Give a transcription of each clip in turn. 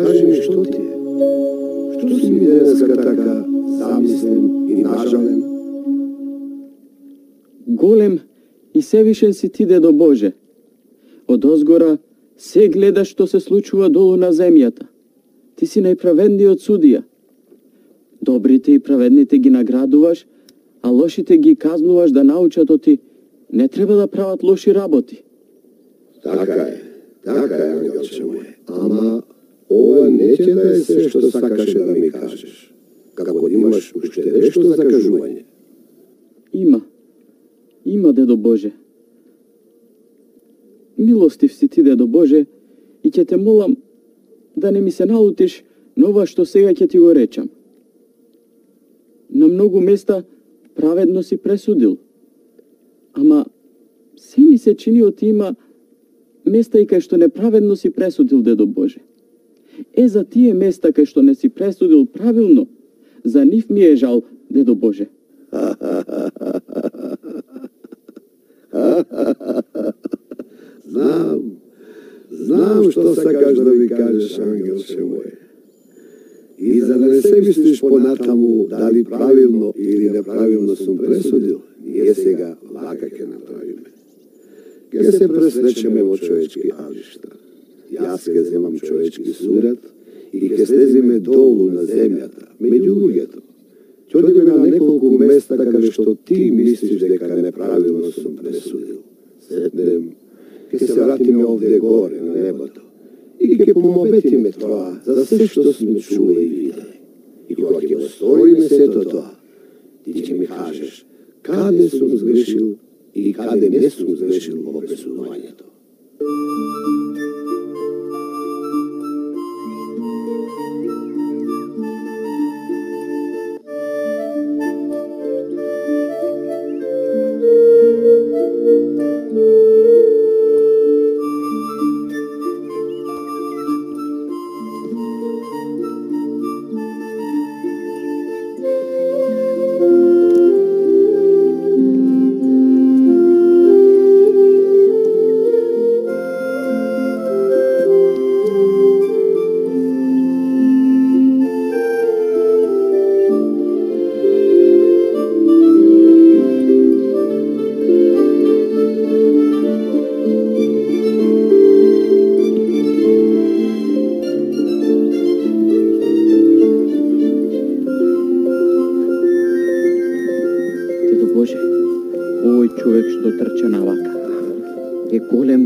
Кажи ми што ти е? Што си ми денеска така замислен и нажален? Голем и севишен си ти, дедо Боже. Од озгора се гледаш што се случува долу на земјата. Ти си најправедниот судија. Добрите и праведните ги наградуваш, а лошите ги казнуваш да научат од ти. Не треба да прават лоши работи. Така е, ангелче моје. Ама ова не ќе да е се што сакаше да ми кажеш. Како да имаш уште нешто за кажување. Има, дедо Боже. Милостив си ти, дедо Боже, и ќе те молам да не ми се налутиш на ова што сега ќе ти го речам. На многу места праведно си пресудил. Ама се ми се чини од има места и кај што неправедно си пресудил, дедо Боже. За тие места кај што не си пресудил правилно, за нив ми е жал, дедо Боже. Знам што сакаш да ми кажеш, ангелче моје. И за да не се мислиш понатаму дали правилно или неправилно сум пресудил, ние сега вака ќе направиме. Ке се пресречеме во човечки авишта. Јас ке земам човечки сурат и ке слезиме долу на земјата, меѓу луѓето. Ќе одиме на неколку места каде што ти мислиш дека неправилно сум пресудил. Сетнем, ке се вратиме овде горе на небото и ке помоветиме тоа за се што сме чули и видели. И кога ќе го сториме сето тоа, ти ќе ми кажеш каде сум сгрешил и каде не сум сгрешил во пресудувањето.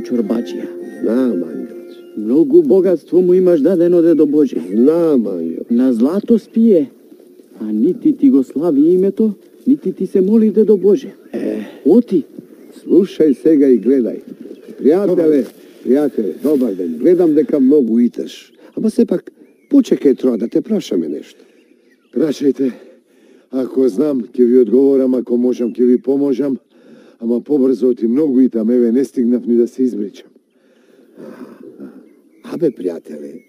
Чорбаджија. Знам, ангелче. Многу богатство му имаш дадено, дедо Боже. Знам, ангел. На злато спие, а нити ти го слави името, нити ти се моли, дедо Боже. Оти. Слушај сега и гледај. Пријателе, добар ден. Гледам дека многу иташ. Ама сепак, почекај троа да те прашаме нешто. Прашајте. Ако знам, ќе ви одговорам, ако можам, ќе ви поможам. Ама побрзо оти многу и там, еве, не стигнав ни да се избричам. Абе, пријателе,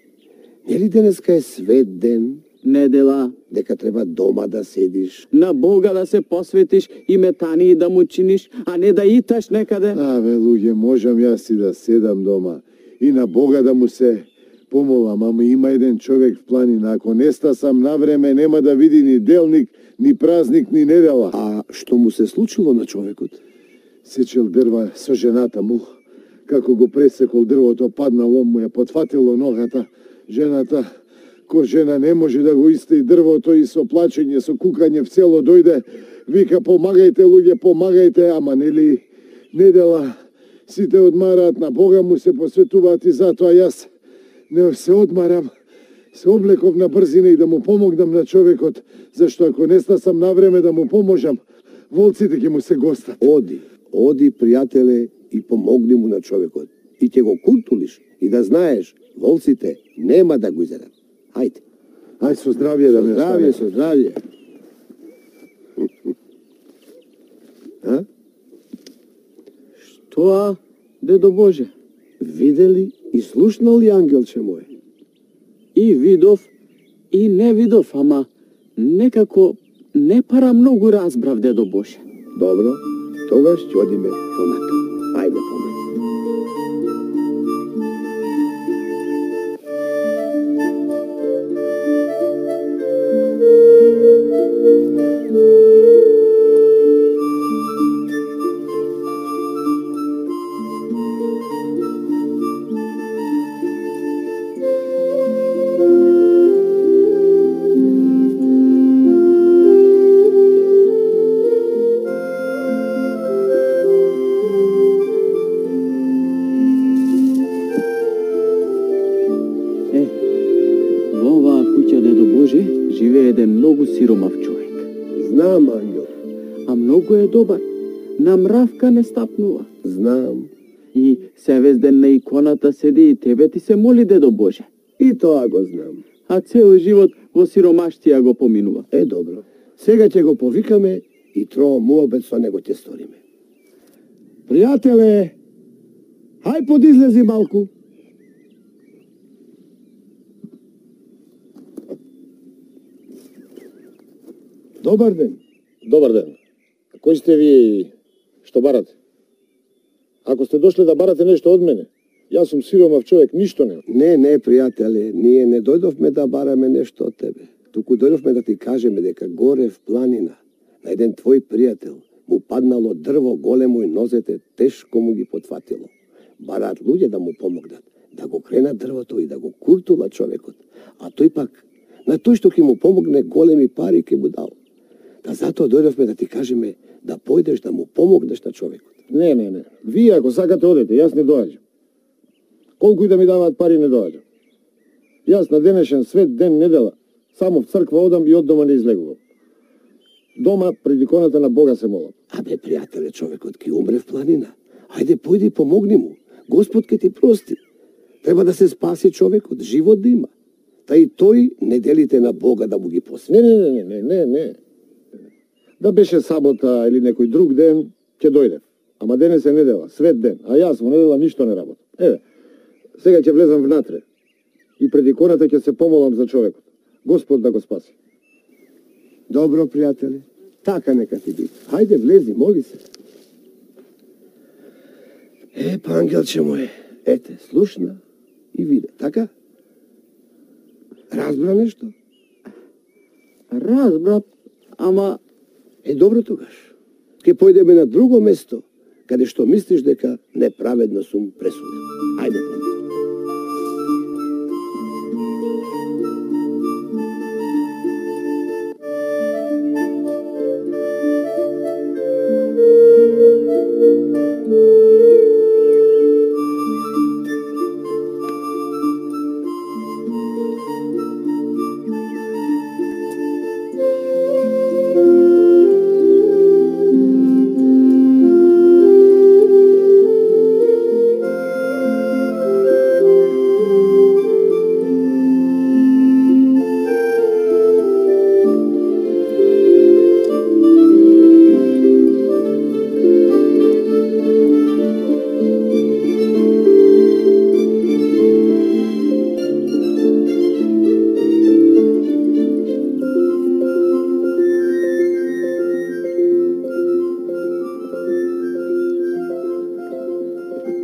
нели денеска е свет ден? Недела. Дека треба дома да седиш. На Бога да се посветиш и метани да му чиниш, а не да иташ некаде. Абе, луѓе, можам јас и да седам дома и на Бога да му се помолам, ама има еден човек в планина, ако не стасам на време, нема да види ни делник, ни празник, ни недела. А што му се случило на човекот? Сечел дрва со жената му. Како го пресекол дрвото, паднало, му ја потфатило ногата. Жената, ко жена не може да го исти дрвото и со плачење, со кукање в цело дојде. Вика, помагајте, луѓе, помагајте, ама нели недела сите одмараат, на Бога му се посветуваат и затоа јас не се одмарам. Се облеков на брзина и да му помогнам на човекот, зашто ако не стасам на време да му поможам, волците ќе му се гостат. Оди, пријателе, и помогни му на човекот. И ќе го култулиш. И да знаеш, волците нема да го изедат. Хајде. Ај, со здравје да ме остави. Со здравје. А? Што, дедо Боже? Видели и слушнал ли, ангелче мој? И видов, и не видов, ама некако не пара многу разбрав, дедо Боже. Добро, тогаш ќе одиме понатаму. Ајде, помај. Во оваа куќа, дедо Боже, живее еден многу сиромав човек. Знам, ангел. А многу е добар. На мравка не стапнува. Знам. И се вез ден на иконата седи и тебе ти се моли, дедо Боже. И тоа го знам. А цел живот во сиромаштија го поминува. Добро. Сега ќе го повикаме и троа муабет со него ќе сториме. Пријателе, хај подизлези малку. Добар ден. Добар ден. Кој сте вие и што барате? Ако сте дошле да барате нешто од мене, јас сум сиромав човек, ништо не. Не, пријателе, ние не дојдовме да бараме нешто од тебе. Туку дојдовме да ти кажеме дека горе в планина, на еден твој пријател, му паднало дрво големо и нозете тешко му ги потфатило. Бараат луѓе да му помогнат, да го кренат дрвото и да го куртула човекот. А тој пак, на тој што ќе му помогне, големи пари ќе му дал. Да затоа дојдовме да ти кажеме да појдеш да му помогнеш на човекот. Не. Вие ако сакате одете, јас не доаѓам. Колку и да ми даваат пари, не доаѓам. Јас на денешен свет ден недела само в црква одам и од дома не излегувам. Дома пред иконата на Бога се молам. Абе, пријателе, човекот ќе умре в планина. Ајде, појди и помогни му. Господ ќе ти прости. Треба да се спаси човекот, живот да има. Та и тој не делите на Бога да му ги посвети. Не. Да беше сабота или некој друг ден, ќе дојдем. Ама денес е недела, свет ден, а јас во недела ништо не работам. Сега ќе влезам внатре и пред иконата ќе се помолам за човекот. Господ да го спаси. Добро, пријателе. Така нека ти биде. Хајде, влези, моли се. Па, ангелче моје, ете, слушна и виде, така? Разбра нешто? Разбра, ама... Добро тогаш. Ке појдеме на друго место, каде што мислиш дека неправедно сум пресуден. Ајде, помни.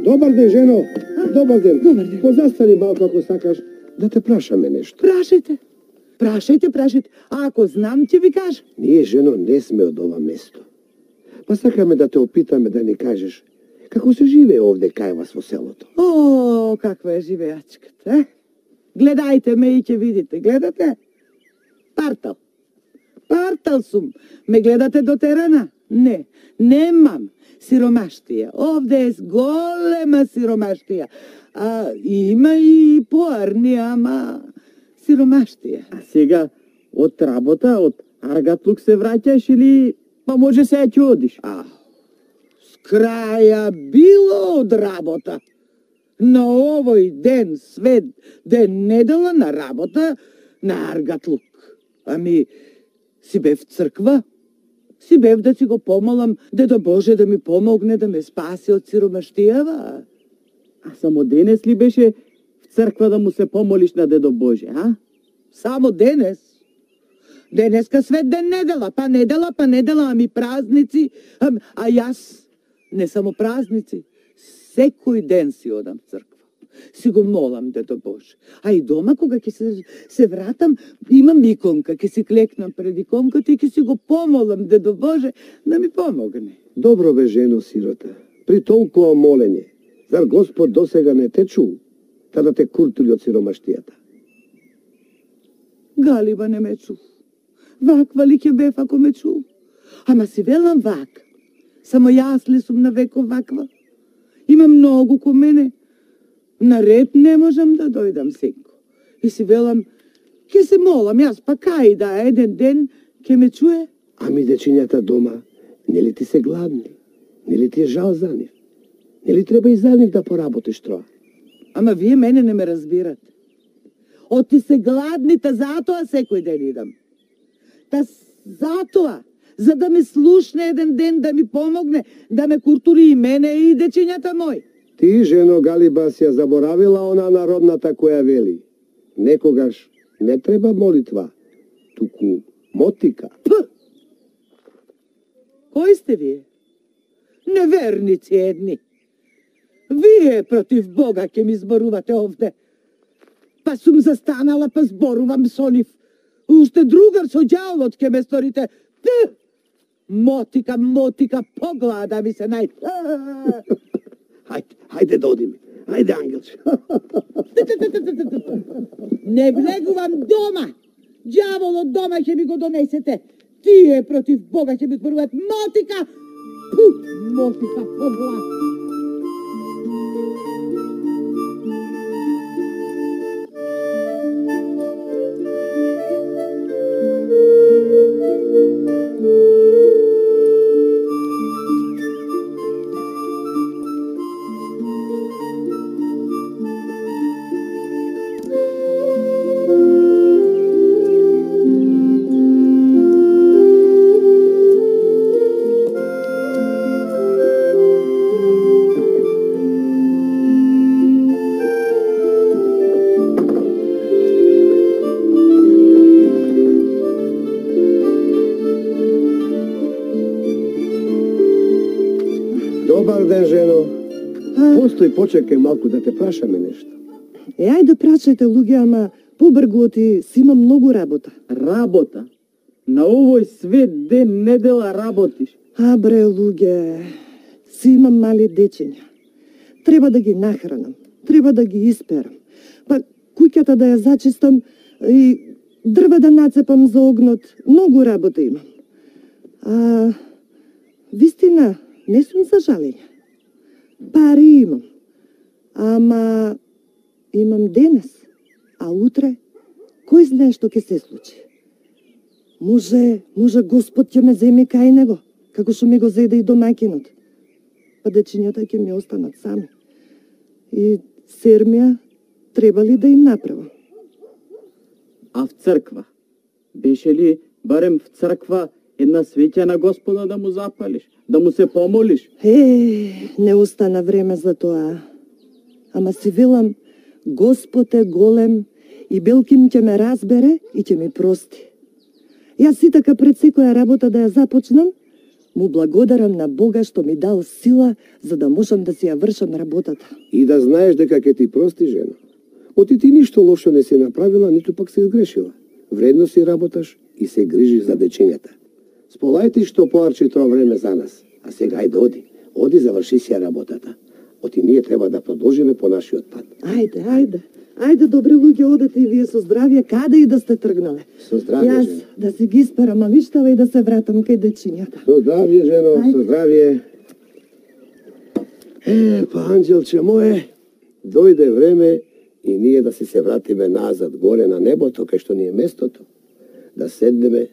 Добар ден, жено. Добар ден. Позастани малко ако сакаш да те прашаме нешто. Прашајте. А ако знам, ќе ви кажам. Ние, жено, не сме од ова место. Па сакаме да те опитаме да ни кажеш како се живее овде кај вас во селото. О, каква е живеачката, Гледајте ме и ќе видите. Гледате? Партал сум. Ме гледате до терена? Не, немам сиромаштија. Овде е голема сиромаштија. Има и поарни, ама сиромаштија. А сега од работа, од аргатлук се враќаш или па може сега ќе одиш? С краја било од работа. На овој ден, свет ден, недела на работа, на аргатлук. Ами, си бев црква? Си бев да си го помолам, дедо Боже да ми помогне да ме спаси од сиромаштијава. А само денес ли беше в црква да му се помолиш на дедо Боже, а? Само денес? Денеска свет ден недела, па недела, ами празници. А јас не само празници, секој ден си одам в црква. Си го молам, дедо Боже. А и дома, кога ќе се вратам, имам иконка, ќе си клекнам пред иконката и ќе си го помолам, дедо Боже, да ми помогне. Добро бе, жено сирота. При толкова молење, зар Господ досега не те чул, та да те куртули од сиромаштијата? Галиба не ме чул. Ваква ли ќе бев ако ме чул? Ама си велам вак. Само јас ли сум навеков ваква? Има многу ко мене. Наред не можам да дојдам секо. И си велам, ке се молам јас, па кај да еден ден ке ме чуе. Ами дечињата дома, нели ти се гладни? Нели ти е жал за нив? Нели треба и за нив да поработиш троа? Ама вие мене не ме разбирате. Оти се гладни, та затоа секој ден идам. Та затоа, за да ме слушне еден ден, да ми помогне, да ме култури и мене и дечињата мој. Ти, жено Галиба, си ја заборавила она народната која вели: некогаш не треба молитва, туку мотика. П! Кои сте вие? Неверници едни. Вие против Бога ќе ми зборувате овде. Па сум застанала, па зборувам со нив. Уште другар со ѓаволот ќе ме сторите. П! Мотика, мотика, поглада ви се најде. Хајде да одиме. Хајде, ангелче. Не влегувам дома. Ѓаволот дома ќе ми го донесете. Тие против Бога ќе ми зборуваат. Мотика! Пу! Мотика, поглад. Добар ден, жено. Постои, почекај малку да те прашаме нешто. Ајде прашајте, луѓе, ама побргу оти си има многу работа. Работа? На овој свет ден недела работиш. Бре, луѓе, си имам мали дечиња. Треба да ги нахранам, треба да ги исперам. Па куќата да ја зачистам и дрва да нацепам за огнот. Многу работа имам. Вистина, не сум за жалење. Пари имам. Ама имам денес, а утре кој знае што ќе се случи. Може Господ ќе ме земи кај него, како што ми го зеде и домаќинот. Па дечињата ќе ми останат сами. И сермија треба ли да им направам? А в црква? Беше ли барем в црква една свеќа на Господа да му запалиш, да му се помолиш? Не остана време за тоа. Ама си велам, Господ е голем и белким ќе ме разбере и ќе ми прости. Јас си така пред секоја работа да ја започнам, му благодарам на Бога што ми дал сила за да можам да си ја вршам работата. И да знаеш дека ќе ти прости, жена. Оти ти ништо лошо не си направила, ниту пак се изгрешила. Вредно си работаш и се грижиш за дечињата. Сполајте што поарчи тоа време за нас. А сега ајде оди. Оди, заврши си ја работата. Оти ние треба да продолжиме по нашиот пат. Ајде, добри луѓе, одете и вие со здравје, каде и да сте тргнале. Со здравје, Јас жена. да си ги испарам авиштава и да се вратам кај дечињата. Со здравје, жено, со здравје. Па, анđелче моје, дојде време и ние да се вратиме назад, горе на небото, кај што ни е местото, да седнеме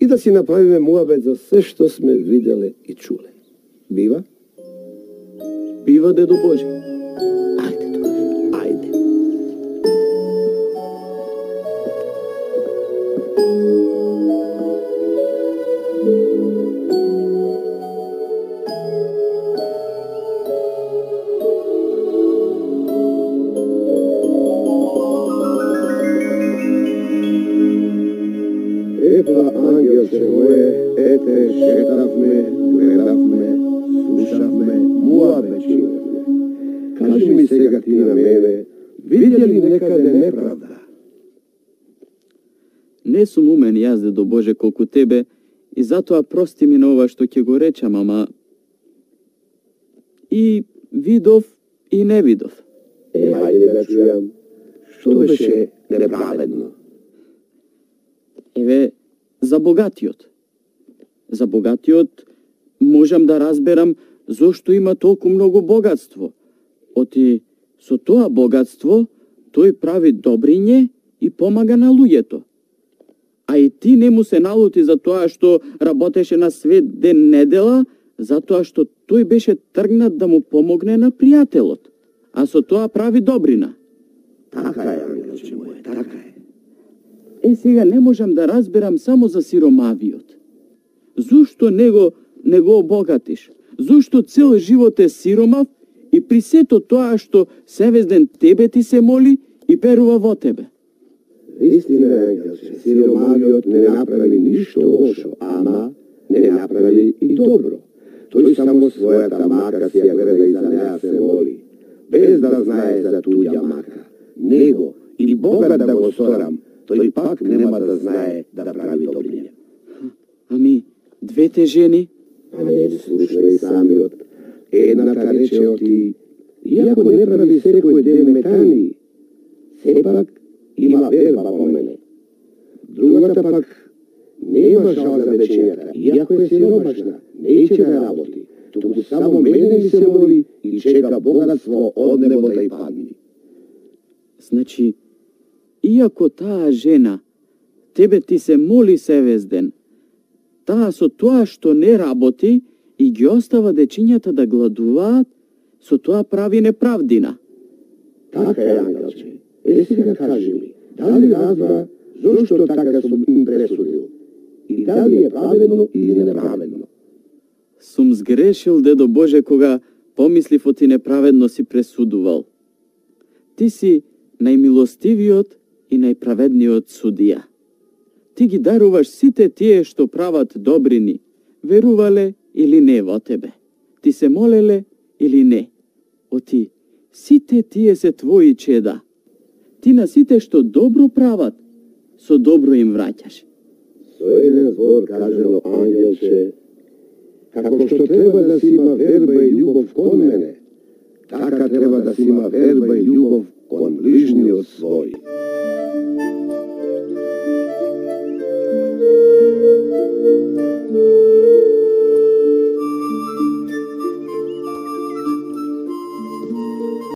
и да си направиме муабет за се што сме виделе и чуле. Бива? Бива, дедо Боже. Ајде, ајде. Епа, ангелче моје, ете, шетавме, гледавме, слушавме, муабет чиневме. Кажи ми сега ти на мене, видя ли некаде неправда? Не сум умен јас, дедо Боже, колку тебе, и затоа прости ми на ова што ќе го речам, ама и видов и не видов. Ајде да чујам, што беше неправедно? Еве, за богатиот. За богатиот можам да разберам зошто има толку многу богатство. Оти со тоа богатство тој прави добриње и помага на луѓето. А и ти не му се налути за тоа што работеше на свет ден недела, затоа што тој беше тргнат да му помогне на пријателот, а со тоа прави добрина. Така е, ангелче моје, така е. Сега не можам да разберам само за сиромавиот. Зошто не го обогатиш? Зошто цел живот е сиромав и при сето тоа што севезден тебе ти се моли и верува во тебе? Истина е, ангелче, сиромавиот не направи ништо лошо, ама не направи и добро. Тој само својата мака си ја гледа и за неа се моли, без да знае за туѓа мака. Него или Бога да го сорам, тој пак нема да знае да прави добриња. Ами, двете жени? А не слушај самиот. Едната рече оти, иако не прави секој ден метани, сепак има верба по мене. Другата пак нема жал за вечењата, иако е сиромашна, неće да работи, туку само мене ми се моли и чека богатство од небо да ја падни. Значи, иако таа жена тебе ти се моли севезден, таа со тоа што не работи и ги остава дечињата да гладуваат, со тоа прави неправдина. Така е, ангелче. Сега кажи ми, дали разбра зошто така сум им пресудил? И дали е праведно или неправедно? Сум сгрешил, дедо Боже, кога помислив оти неправедно си пресудувал. Ти си најмилостивиот и најправедниот судија. Ти ги даруваш сите тие што прават добрини, верувале или не во тебе. Ти се молеле или не. Оти, сите тие се твои чеда. Ти на сите што добро прават, со добро им враќаш. Со еден збор кажено, ангелче, како што треба да си има верба и љубов кон мене, така треба да си има верба и љубов кон ближниот свој.